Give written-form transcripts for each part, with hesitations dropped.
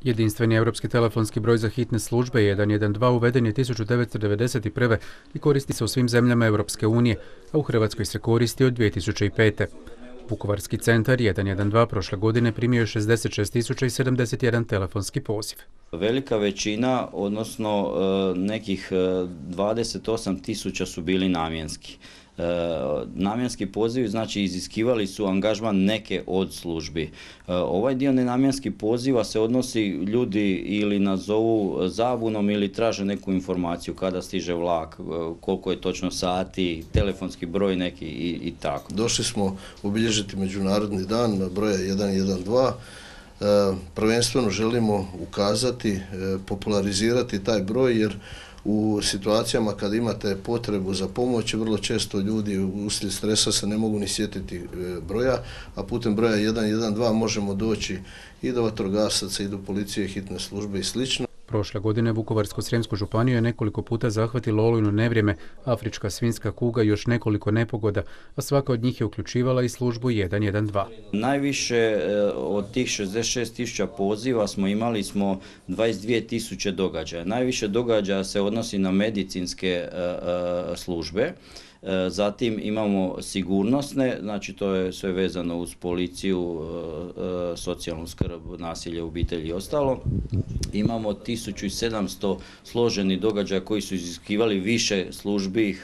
Jedinstveni europski telefonski broj za hitne službe 112 uveden je 1991. i koristi se u svim zemljama Europske unije, a u Hrvatskoj se koristi od 2005. Vukovarski centar 112 prošle godine primio je 66.071 telefonski poziv. Velika većina, odnosno nekih 28.000 su bili namjenski. Namjenski pozivi znači iziskivali su angažman neke od službi. Ovaj dio nenamjenskih poziva se odnosi ljudi ili nazovu zabunom ili traže neku informaciju kada stiže vlak, koliko je točno sati, telefonski broj neki i tako. Došli smo obilježiti Međunarodni dan broja 112. Prvenstveno želimo ukazati, popularizirati taj broj jer u situacijama kad imate potrebu za pomoć, vrlo često ljudi uslijed stresa se ne mogu ni sjetiti broja, a putem broja 112 možemo doći i do vatrogasaca i do policije, hitne službe i slično. Prošle godine Vukovarsko-srijemsku županiju je nekoliko puta zahvatilo olujno nevrijeme, afrička svinjska kuga i još nekoliko nepogoda, a svaka od njih je uključivala i službu 112. Najviše od tih 66.000 poziva smo imali 22.000 događaja. Najviše događaja se odnosi na medicinske službe. Zatim imamo sigurnosne, znači to je sve vezano uz policiju, socijalnu skrb, nasilje u obitelji i ostalo. Imamo 1700 složenih događaja koji su iziskivali više službi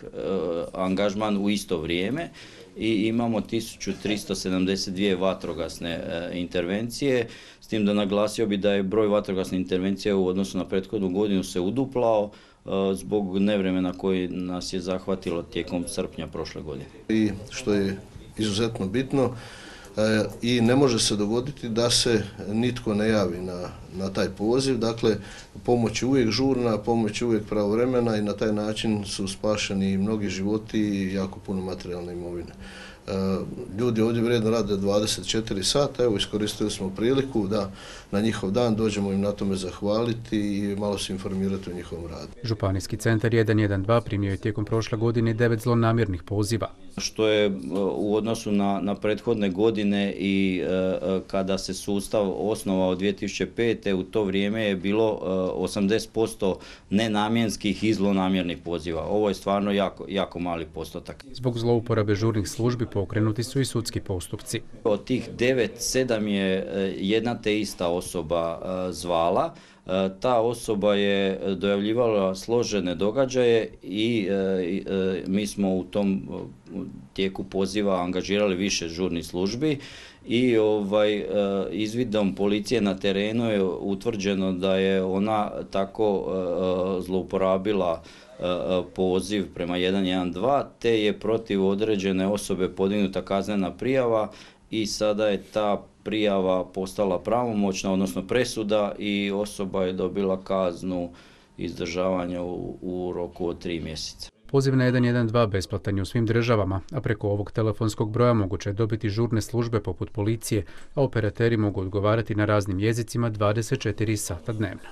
angažman u isto vrijeme i imamo 1372 vatrogasne intervencije, s tim da naglasio bi da je broj vatrogasne intervencije u odnosu na prethodnu godinu se uduplao zbog nevremena koji nas je zahvatilo tijekom srpnja prošle godine. I što je izuzetno bitno, i ne može se dogoditi da se nitko ne javi na taj poziv. Dakle, pomoć je uvijek žurna, pomoć je uvijek pravovremena i na taj način su spašeni mnogi životi i jako puno materijalne imovine. Ljudi ovdje vrijedno rade 24 sata, evo iskoristili smo priliku da na njihov dan dođemo im na tome zahvaliti i malo se informirati o njihovom radu. Županijski centar 112 primio je tijekom prošle godine 9 zlonamjernih poziva. Što je u odnosu na prethodne godine i kada se sustav osnovao 2005. u to vrijeme je bilo 80% nenamjenskih i zlonamjernih poziva. Ovo je stvarno jako mali postotak. Zbog zlouporabe žurnih službi pokrenuti su i sudski postupci. Od tih 9, 7 je jedna te ista osoba zvala. Ta osoba je dojavljivala složene događaje i mi smo u tom tijeku poziva angažirali više žurnih službi i izvidom policije na terenu je utvrđeno da je ona tako zlouporabila poziv prema 112 te je protiv određene osobe podignuta kaznena prijava i sada je ta prijava postala pravomoćna, odnosno presuda i osoba je dobila kaznu izdržavanja u roku od 3 mjeseca. Poziv na 112 besplatan je u svim državama, a preko ovog telefonskog broja moguće je dobiti žurne službe poput policije, a operateri mogu odgovarati na raznim jezicima 24 sata dnevno.